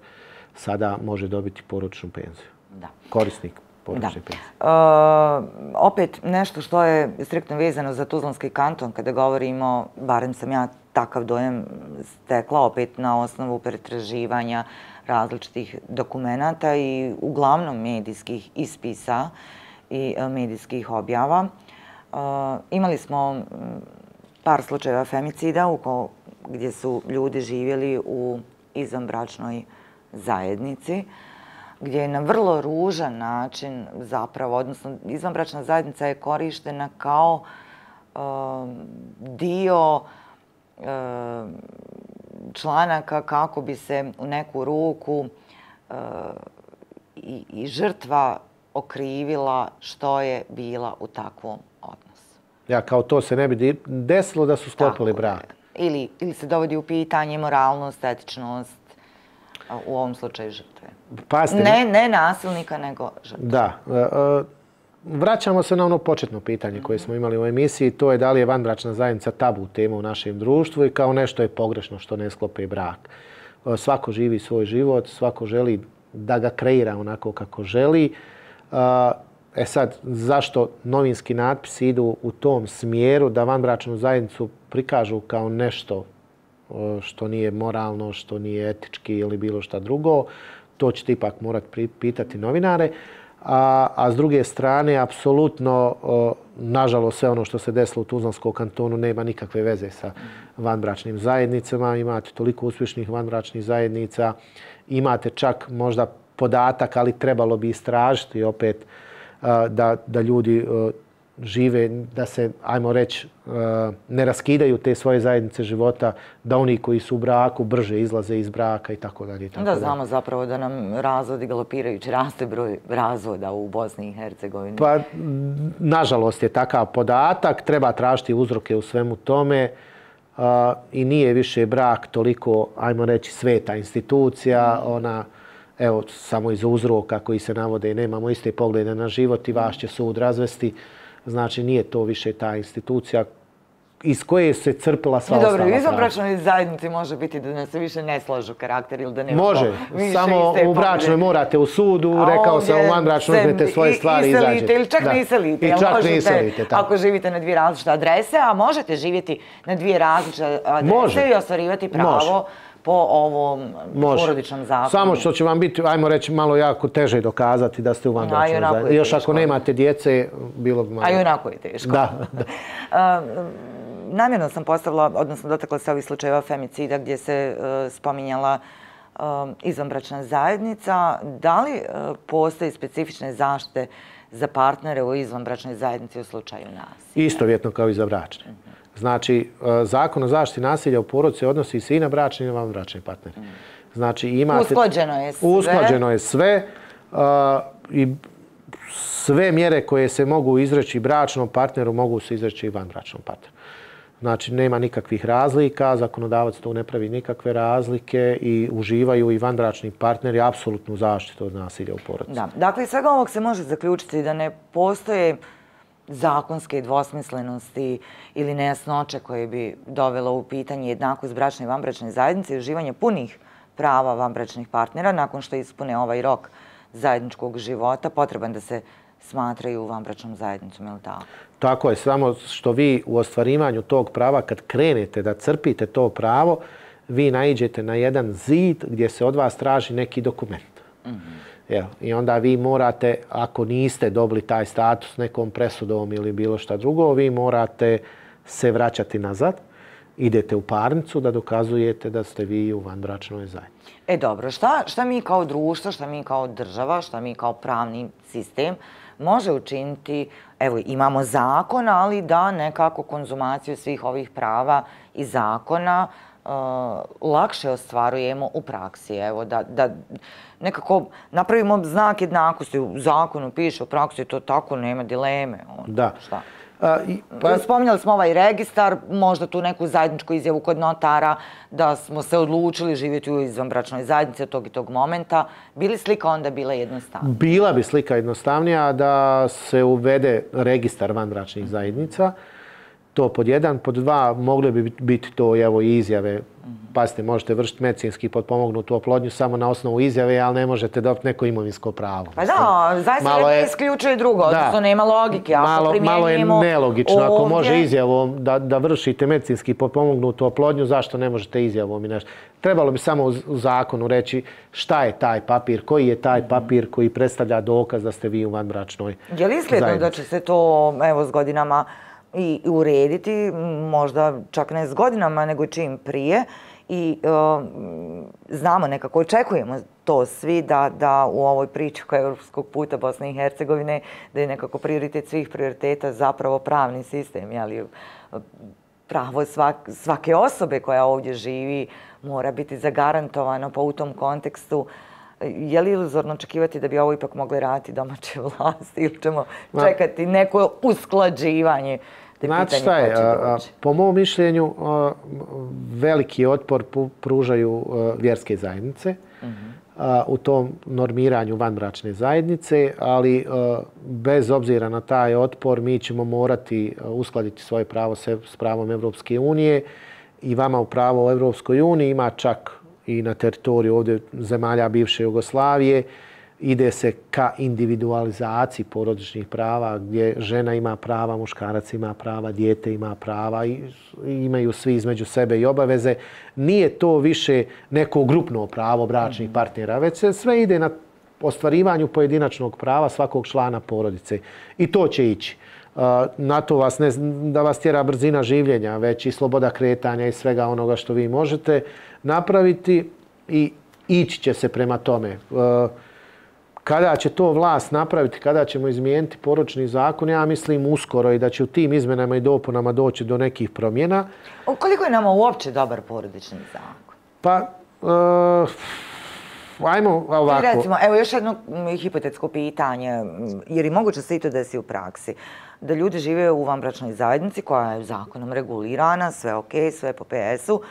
sada može dobiti porodičnu penziju. Da. Korisnik porodične penzije. Opet nešto što je striktno vezano za Tuzlanski kanton, kada govorimo, barem sam ja takav dojam stekla opet na osnovu pretraživanja različitih dokumenata i uglavnom medijskih ispisa i medijskih objava. Imali smo par slučajeva femicida gdje su ljudi živjeli u izvanbračnoj zajednici, gdje je na vrlo ružan način zapravo, odnosno izvanbračna zajednica je korištena kao dio članaka kako bi se u neku ruku i žrtva okrivila što je bila u takvom odnosu. Ja, kao to se ne bi desilo da su sklopili brak. Ili se dovodi u pitanje moralnost, etičnost, u ovom slučaju žrtve. Ne nasilnika, nego žrtve. Da. Vraćamo se na ono početno pitanje koje smo imali u emisiji, to je da li je vanbračna zajednica tabu tema u našem društvu i kao nešto je pogrešno što ne sklope brak. Svako živi svoj život, svako želi da ga kreira onako kako želi. Sad, zašto novinski natpisi idu u tom smjeru da vanbračnu zajednicu prikažu kao nešto što nije moralno, što nije etički ili bilo šta drugo, to ćete ipak morati pitati novinare. A s druge strane, apsolutno, nažalost, sve ono što se desilo u Tuzlanskom kantonu nema nikakve veze sa vanbračnim zajednicama. Imate toliko uspješnih vanbračnih zajednica, imate čak možda podatak, ali trebalo bi istražiti opet da ljudi žive, da se, ajmo reći, ne raskidaju te svoje zajednice života, da oni koji su u braku brže izlaze iz braka i tako dalje. Da, znamo zapravo da nam razvodi galopirajući raste broj razvoda u Bosni i Hercegovini. Pa, nažalost je takav podatak, treba tražiti uzroke u svemu tome i nije više brak toliko, ajmo reći, sveta institucija, ona, evo, samo iz uzroka koji se navode, nemamo iste poglede na život i vas će sud razvesti. Znači, nije to više ta institucija iz koje se crpila sva ostala prava. Dobro, u izvanbračnoj zajednici može biti da se više ne slažu karakter ili da nema može, samo u bračnoj morate u sudu, rekao sam u vanbračnoj uzmete svoje stvari i izađete. Ili čak ne iselite. I čak ne iselite. Ako živite na dvije različite adrese, a možete živjeti na dvije različite adrese i ostvarivati pravo po ovom porodičnom zakonu. Samo što će vam biti, ajmo reći, malo jako teže dokazati da ste u vanbračnoj zajednici. Još ako nemate djece, bilo bi malo... A i onako je teško. Da. Namjerno sam postavila, odnosno dotakla se ovih slučajeva femicida gdje se spominjala izvanbračna zajednica. Da li postoji specifične zaštite za partnere u izvanbračnoj zajednici u slučaju nasilja? Istovjetno kao i za bračne. Znači, Zakon o zaštiti nasilja u porodici odnosi se i na bračne i na vanbračne partnere. Znači, imate... Usklađeno je sve. Usklađeno je sve i sve mjere koje se mogu izreći bračnom partneru mogu se izreći i vanbračnom partneru. Znači, nema nikakvih razlika, zakonodavac tu ne pravi nikakve razlike i uživaju i vanbračni partneri apsolutnu zaštitu od nasilja u porodici. Da. Dakle, iz svega ovog se može zaključiti da ne postoje zakonske dvosmislenosti ili nejasnoće koje bi dovelo u pitanje jednakost bračne i vanbračne zajednice i uživanje punih prava vanbračnih partnera nakon što ispune ovaj rok zajedničkog života, potreban da se smatraju vanbračnom zajednicom, je li tako? Tako je, samo što vi u ostvarivanju tog prava, kad krenete da crpite to pravo, vi naiđete na jedan zid gdje se od vas traži neki dokument. I onda vi morate, ako niste dobili taj status nekom presudom ili bilo šta drugo, vi morate se vraćati nazad, idete u parnicu da dokazujete da ste vi u vanbračnoj zajednici. Dobro, šta mi kao društvo, šta mi kao država, šta mi kao pravni sistem može učiniti, evo imamo zakon, ali da nekako konzumaciju svih ovih prava i zakona lakše ostvarujemo u praksi. Evo, da nekako napravimo znak jednakosti. U zakonu piše, u praksi to tako, nema dileme. Da. Šta? Spominjali smo ovaj registar, možda tu neku zajedničku izjavu kod notara da smo se odlučili živjeti u izvanbračnoj zajednici od tog i tog momenta. Bi li slika onda bila jednostavnija? Bila bi slika jednostavnija da se uvede registar vanbračnih zajednica. To pod jedan. Pod dva, mogle bi biti to evo, i izjave. Pazite, možete vršiti medicinski potpomognutu oplodnju samo na osnovu izjave, ali ne možete dobiti neko imovinsko pravo. Pa da, zaista ne isključuje drugo, odnosno nema logike. Malo je nelogično. Ako može izjavom da vršite medicinski potpomognutu oplodnju, zašto ne možete izjavom i nešto? Trebalo bi samo u zakonu reći šta je taj papir, koji je taj papir koji predstavlja dokaz da ste vi u vanbračnoj zajednici. Je li izgledno da će se to s godinama i urediti, možda čak ne s godinama, nego čim prije. I znamo, nekako očekujemo to svi da u ovoj priči oko evropskog puta Bosne i Hercegovine, da je nekako prioritet svih prioriteta zapravo pravni sistem. Pravo svake osobe koja ovdje živi mora biti zagarantovano, pa u tom kontekstu Je li iluzorno očekivati da bi ovo ipak mogle raditi domaće vlasti ili ćemo čekati neko usklađivanje? Znate šta je, po mom mišljenju veliki otpor pružaju vjerske zajednice u tom normiranju vanbračne zajednice, ali bez obzira na taj otpor mi ćemo morati uskladiti svoje pravo s pravom Evropske unije i vama u pravo u Evropskoj uniji ima čak i na teritoriju ovdje zemalja bivše Jugoslavije. Ide se ka individualizaciji porodičnih prava gdje žena ima prava, muškarac ima prava, dijete ima prava i imaju svi između sebe i obaveze. Nije to više neko grupno pravo bračnih partnera, već se sve ide na ostvarivanju pojedinačnog prava svakog člana porodice. I to će ići. Na to vas ne da vas tjera brzina življenja, već i sloboda kretanja i svega onoga što vi možete napraviti i ići će se prema tome. Kada će to vlast napraviti, kada ćemo izmijeniti porodični zakon, ja mislim uskoro i da će u tim izmenama i dopunama doći do nekih promjena. Koliko je nama uopće dobar porodični zakon? Pa, ajmo ovako. I recimo, evo još jedno hipotetsko pitanje, jer i moguće se i to desi u praksi, da ljudi žive u vanbračnoj zajednici koja je zakonom regulirana, sve ok, sve po PS-u,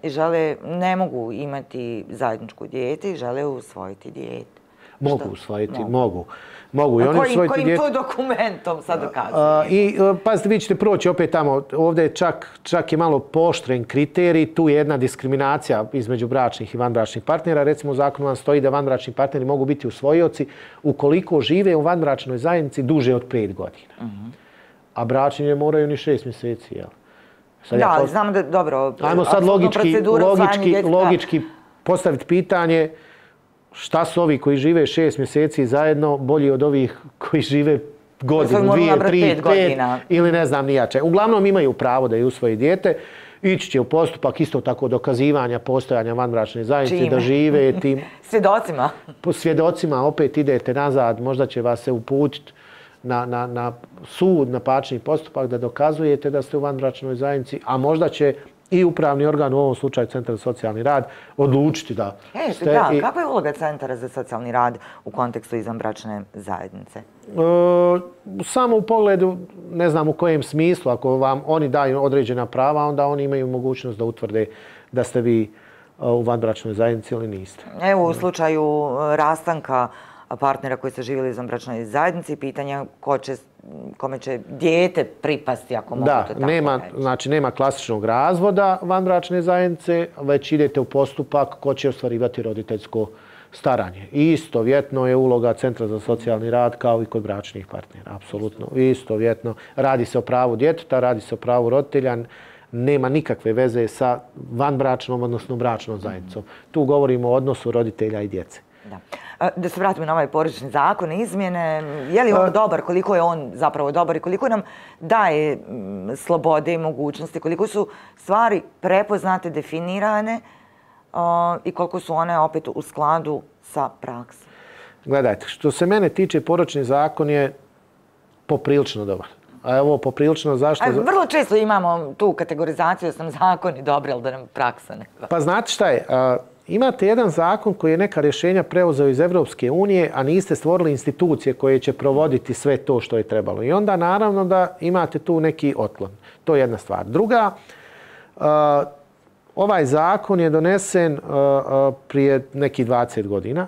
i žele, ne mogu imati zajedničku dijete i žele usvojiti dijete. Mogu usvojiti, mogu. A kojim to dokumentom sad dokazuje? I pazite, vi ćete proći opet tamo, ovdje je čak je malo pooštren kriterij, tu je jedna diskriminacija između bračnih i vanbračnih partnera. Recimo u zakonu vam stoji da vanbračni partneri mogu biti usvojioci ukoliko žive u vanbračnoj zajednici duže od 5 godina. A bračni ne moraju ni 6 mjeseci, jel? Da, ali znamo da, dobro, ajmo sad logički postaviti pitanje šta su ovi koji žive 6 mjeseci zajedno bolji od ovih koji žive godinu, 2, 3, 5 ili ne znam nijače. Uglavnom imaju pravo da je usvoji dijete. Ići će u postupak isto tako dokazivanja postojanja vanbračne zajednice, da žive tim... Svjedocima? Po svjedocima opet idete nazad, možda će vas se uputiti na sud, na parnični postupak da dokazujete da ste u vanbračnoj zajednici, a možda će i upravni organ, u ovom slučaju Centar za socijalni rad, odlučiti da ste... Da, kakva je uloga Centara za socijalni rad u kontekstu izvanbračne zajednice? Samo u pogledu, ne znam u kojem smislu, ako vam oni daju određena prava, onda oni imaju mogućnost da utvrde da ste vi u vanbračnoj zajednici ili niste. Evo, u slučaju rastanka partnera koji su živjeli u izvanbračnoj zajednici, pitanja kome će dijete pripasti, ako mogu to tako reći. Znači nema klasičnog razvoda vanbračne zajednice, već idete u postupak ko će ostvarivati roditeljsko staranje. Istovjetno je uloga Centra za socijalni rad kao i kod bračnih partnera, apsolutno. Istovjetno. Radi se o pravu djeteta, radi se o pravu roditelja, nema nikakve veze sa vanbračnom, odnosno bračnom zajednicom. Tu govorimo o odnosu roditelja i djece. Da se vratimo na ovaj porodični zakon, izmjene, je li on dobar, koliko je on zapravo dobar i koliko nam daje slobode i mogućnosti, koliko su stvari prepoznate, definirane i koliko su one opet u skladu sa praksom? Gledajte, što se mene tiče, porodični zakon je poprilično dobar. A evo, poprilično zašto... Vrlo često imamo tu kategorizaciju da sam zakoni dobri, ali da nam praksa ne... Pa znate šta je? Imate jedan zakon koji je neka rješenja preuzeo iz Evropske unije, a niste stvorili institucije koje će provoditi sve to što je trebalo. I onda naravno da imate tu neki otklon. To je jedna stvar. Druga, ovaj zakon je donesen prije nekih 20 godina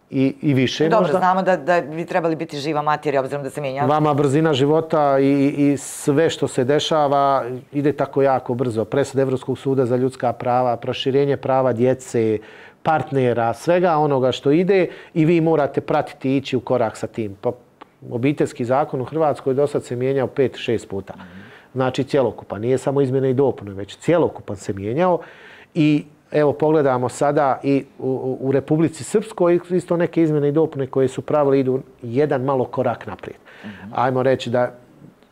i više. Dobro, znamo da bi trebali biti živa materija, obzirom da se mijenja. Vama brzina života i sve što se dešava ide tako jako brzo. Presuda Evropskog suda za ljudska prava, proširenje prava djece, partnera, svega onoga što ide i vi morate pratiti i ići u korak sa tim. Pa, obiteljski zakon u Hrvatskoj do sad se mijenjao 5-6 puta. Znači cjelokupan, nije samo izmjene i dopune, već cjelokupan se mijenjao i evo, pogledamo sada i u Republici Srpskoj isto neke izmjene i dopune koje su pravili idu jedan malo korak naprijed. Ajmo reći da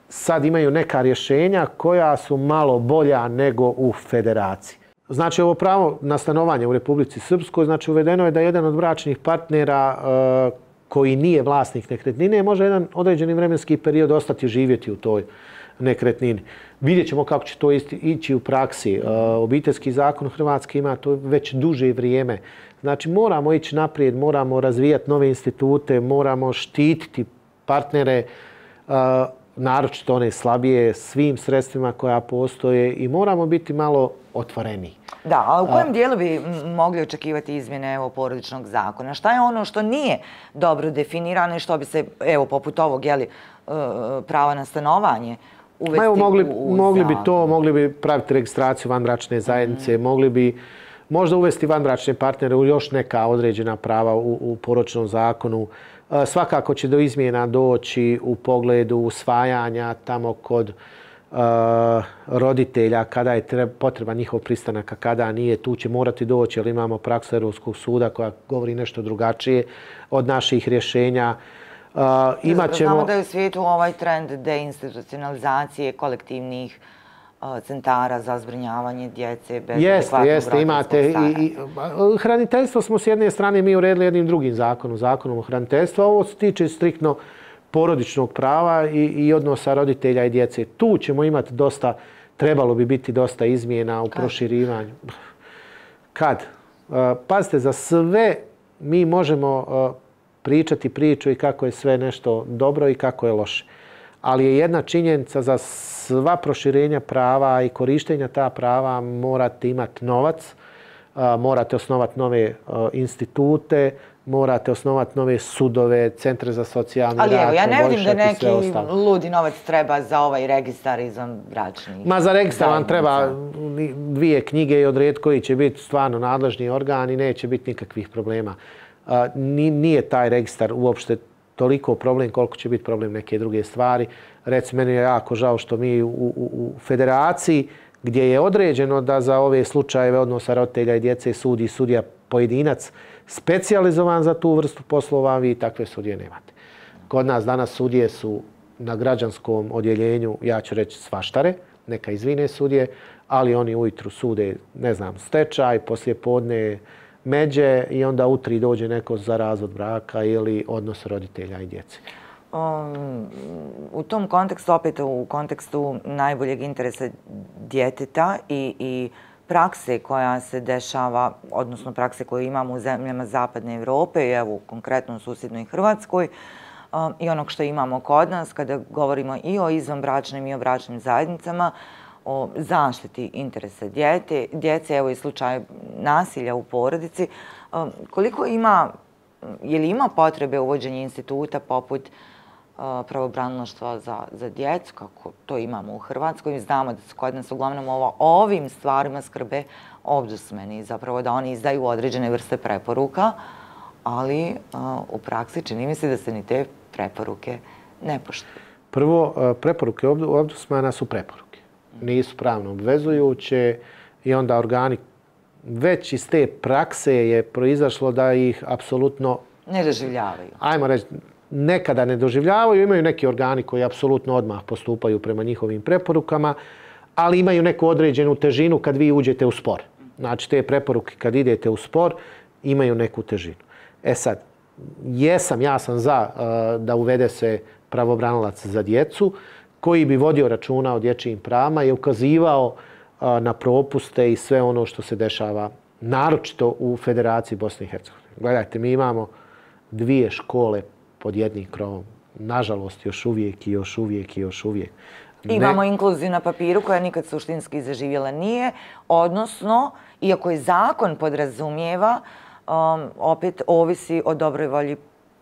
sad imaju neka rješenja koja su malo bolja nego u federaciji. Znači, ovo pravo na stanovanje u Republici Srpskoj, znači uvedeno je da jedan od bračnih partnera koji nije vlasnik nekretnine može jedan određeni vremenski period ostati živjeti u toj nekretnini. Vidjet ćemo kako će to ići u praksi. Obiteljski zakon Hrvatske ima to već duže vrijeme. Znači moramo ići naprijed, moramo razvijati nove institute, moramo štititi partnere, naročito one slabije, svim sredstvima koja postoje i moramo biti malo otvoreni. Da, a u kojem dijelu bi mogli očekivati izmjene porodičnog zakona? Šta je ono što nije dobro definirano i što bi se, poput ovog, prava na stanovanje uvesti u zakon? Mogli bi praviti registraciju vanbračne zajednice, mogli bi možda uvesti vanbračne partnere u još neka određena prava u porodičnom zakonu. Svakako će do izmjena doći u pogledu usvajanja tamo kod roditelja, kada je potreban njihov pristanak, a kada nije. Tu će morati doći, jer imamo praksu Europskog suda koja govori nešto drugačije od naših rješenja. Znamo da je u svijetu ovaj trend deinstitucionalizacije kolektivnih centara za zbrinjavanje djece bez adekvatnog roditeljskog stara. Hraniteljstvo smo s jedne strane mi uredili jednim drugim zakonom o hraniteljstvu, a ovo se tiče striktno porodičnog prava i odnosa roditelja i djece. Tu ćemo imati trebalo bi biti dosta izmjena u proširivanju. Kad? Pazite, za sve mi možemo pričati priču i kako je sve nešto dobro i kako je loše. Ali je jedna činjenica, za sva proširenja prava i korištenja ta prava morate imati novac, morate osnovati nove institute, morate osnovati nove sudove, centre za socijalni rad. Ali evo, ja ne vidim da neki ludi novac treba za ovaj registar izvanbračnih. Ma za registar vam treba 2 knjige i odrediti koji će biti stvarno nadležni organ i neće biti nikakvih problema. Nije taj registar uopšte toliko problem koliko će biti problem neke druge stvari. Recimo, meni je jako žao što mi u federaciji, gdje je određeno da za ove slučajeve odnosa roditelja i djece sudi sudija pojedinac specijalizovan za tu vrstu poslova, vi takve sudije nemate. Kod nas danas sudije su na građanskom odjeljenju, ja ću reći svaštare, neka izvine sudije, ali oni ujutru sude, stečaj, poslije podne međe i onda u 3 dođe neko za razvod braka ili odnos roditelja i djece. U tom kontekstu, opet u kontekstu najboljeg interesa djeteta i prakse koja se dešava, odnosno prakse koje imamo u zemljama Zapadne Evrope i evo konkretno u susjednoj Hrvatskoj i onog što imamo kod nas kada govorimo i o izvanbračnim i o bračnim zajednicama, o zaštiti interesa djece, evo i slučaj nasilja u porodici. Koliko ima, je li ima potrebe uvođenja instituta poput pravobranilaštva za djecu, kako to imamo u Hrvatskoj? Znamo da su kod nas uglavnom ovim stvarima skrbe ombudsmeni, zapravo da oni izdaju određene vrste preporuka, ali u praksi čini mi se da se ni te preporuke ne poštuju. Prvo, preporuke ombudsmana su preporuke. Nisu pravno obvezujuće i onda organi već iz te prakse je proizašlo da ih apsolutno ne doživljavaju. Ajmo reći, nekada ne doživljavaju, imaju neki organi koji apsolutno odmah postupaju prema njihovim preporukama, ali imaju neku određenu težinu kad vi uđete u spor. Znači, te preporuke kad idete u spor imaju neku težinu. Sad, ja sam za da uvede se pravobranilac za djecu, koji bi vodio računa o dječjim pravima i ukazivao na propuste i sve ono što se dešava, naročito u Federaciji Bosne i Hercegovine. Gledajte, mi imamo 2 škole pod jednim krovom. Nažalost, još uvijek. Imamo inkluziju na papiru koja nikad suštinski zaživjela nije, odnosno, iako je zakon podrazumijeva, opet ovisi o dobroj volji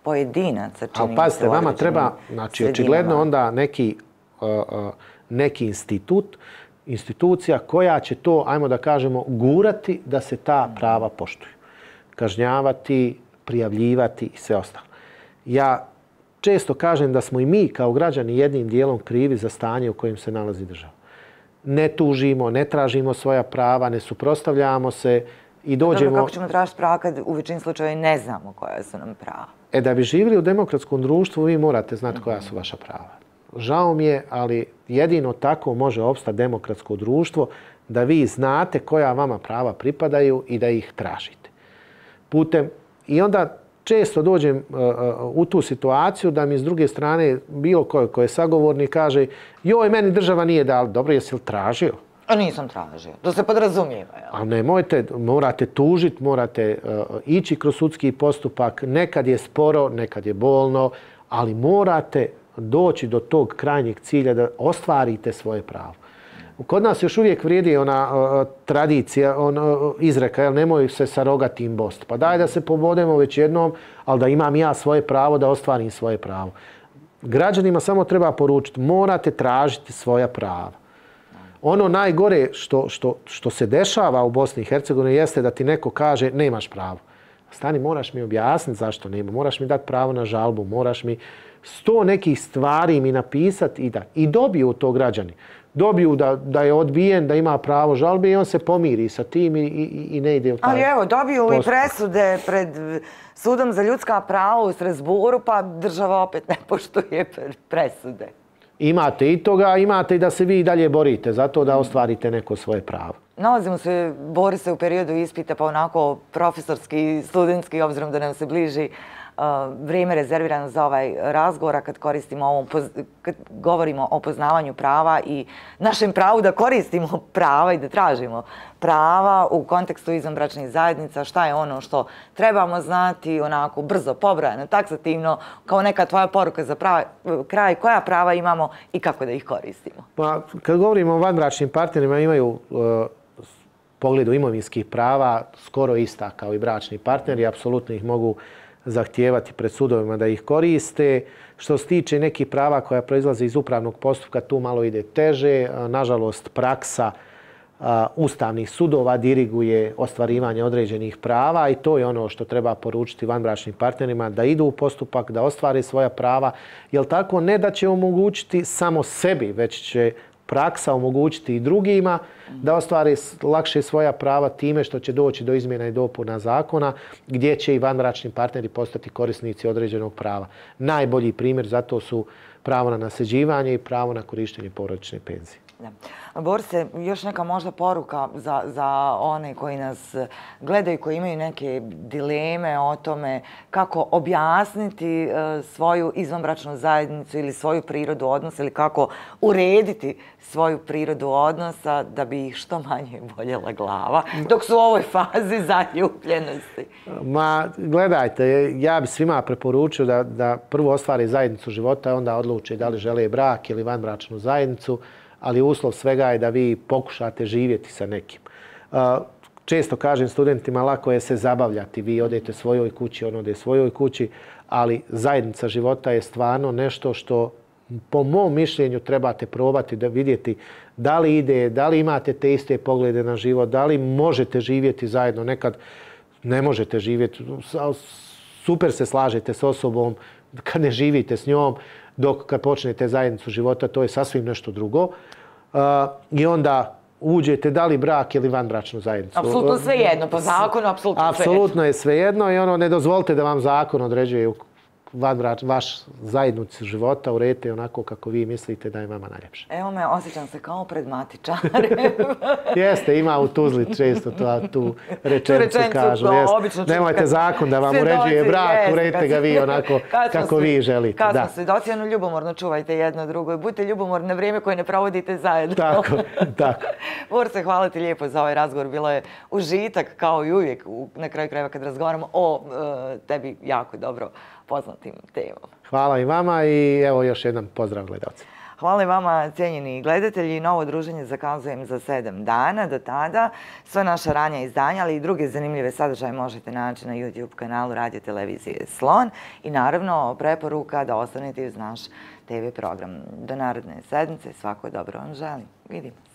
pojedinaca. Ali pazite, vama treba, znači, očigledno onda neki institucija koja će to, ajmo da kažemo, gurati da se ta prava poštuju. Kažnjavati, prijavljivati i sve ostalo. Ja često kažem da smo i mi kao građani jednim dijelom krivi za stanje u kojem se nalazi država. Ne tužimo, ne tražimo svoja prava, ne suprotstavljamo se i dođemo... Kako ćemo tražiti prava kad u većini slučajeva ne znamo koja su nam prava? Da bi živjeli u demokratskom društvu, vi morate znati koja su vaša prava. Žao mi je, ali jedino tako može opstati demokratsko društvo, da vi znate koja vama prava pripadaju i da ih tražite. I onda često dođem u tu situaciju da mi s druge strane bilo ko je sagovornik kaže joj, meni država nije dala. Dobro, jesi li tražio? A nisam tražio. To se podrazumijeva. A nemojte, morate tužiti, morate ići kroz sudski postupak. Nekad je sporo, nekad je bolno, ali morate doći do tog krajnjeg cilja da ostvarite svoje pravo. Kod nas još uvijek vrijedi ona tradicija, izreka, nemoj se sa rogatim bost. Pa daj da se pobodemo već jednom, ali da imam ja svoje pravo, da ostvarim svoje pravo. Građanima samo treba poručiti, morate tražiti svoja prava. Ono najgore što se dešava u Bosni i Hercegovini jeste da ti neko kaže nemaš pravo. Stani, moraš mi objasniti zašto nema, moraš mi dati pravo na žalbu, moraš mi 100 nekih stvari mi napisati i dobiju to građani. Dobiju da je odbijen, da ima pravo žalbe i on se pomiri sa tim i ne ide u taj postupak. Ali evo, dobiju postupak. I presude pred Sudom za ljudska prava u Strasburu, pa država opet ne poštuje presude. Imate i toga, imate i da se vi i dalje borite zato da ostvarite neko svoje pravo. Nalazimo se, Borise, u periodu ispita, pa onako profesorski, studentski, obzirom da nam se bliži vrijeme rezervirano za ovaj razgovor, kad govorimo o poznavanju prava i našem pravu da koristimo prava i da tražimo prava u kontekstu izvanbračnih zajednica, šta je ono što trebamo znati, onako brzo, pobrojano, taksativno, kao neka tvoja poruka za kraj, koja prava imamo i kako da ih koristimo. Pa, kad govorimo o vanbračnim partnerima, imaju pogledu imovinskih prava skoro ista kao i bračni partneri, apsolutno ih mogu zahtijevati pred sudovima da ih koriste. Što se tiče nekih prava koja proizlaze iz upravnog postupka, tu malo ide teže. Nažalost, praksa ustavnih sudova diriguje ostvarivanje određenih prava i to je ono što treba poručiti vanbračnim partnerima, da idu u postupak, da ostvare svoja prava. Jer tako ne da će omogućiti samo sebi, već će praksa omogućiti i drugima da ostvare lakše svoja prava time što će doći do izmjena i dopuna zakona gdje će i vanbračni partneri postati korisnici određenog prava. Najbolji primjer za to su pravo na nasljeđivanje i pravo na korištenje porodične penzije. Borise, još neka možda poruka za one koji nas gledaju, koji imaju neke dileme o tome kako objasniti svoju izvanbračnu zajednicu ili svoju prirodu odnosa ili kako urediti svoju prirodu odnosa da bi ih što manje boljela glava dok su u ovoj fazi zaljubljenosti. Ma, gledajte, ja bi svima preporučio da prvo ostvare zajednicu života, a onda odluče da li žele brak ili vanbračnu zajednicu, ali uslov svega je da vi pokušate živjeti sa nekim. Često kažem studentima, lako je se zabavljati. Vi odete svojoj kući, on ode svojoj kući, ali zajednica života je stvarno nešto što po mom mišljenju trebate probati da vidjeti da li ide, da li imate te iste poglede na život, da li možete živjeti zajedno. Nekad ne možete živjeti, super se slažete s osobom kad ne živite s njom, dok kad počnete zajednicu života, to je sasvim nešto drugo. I onda uđete da li brak ili vanbračnu zajednicu. Apsolutno svejedno, po zakonu apsolutno svejedno. Apsolutno je svejedno i ne dozvolite da vam zakon određuje vaš zajednicu života, uredite onako kako vi mislite da je vama najljepše. Evo me, osjećam se kao pred matičarem. Jeste, ima u Tuzli često tu rečenicu kažu. Nemojte zakon da vam uređuje brak, uredite ga vi onako kako vi želite. Kad smo svedoci, ljubomorno čuvajte jedno drugo i budite ljubomorni na vrijeme koje ne provodite zajedno. Tako. Borise, hvala ti lijepo za ovaj razgovor. Bilo je užitak kao i uvijek na kraju krajeva kad razgovaramo o tebi jako dobro poznatim temom. Hvala i vama i evo još jedan pozdrav gledalcima. Hvala i vama, cijenjeni gledatelji. Novo druženje zakazujem za 7 dana. Do tada sve naša ranja izdanja, ali i druge zanimljive sadržaje možete naći na YouTube kanalu Radio Televizije Slon. I naravno, preporuka da ostanete uz naš TV program. Do naredne sedmice, svako dobro vam želim. Vidimo se.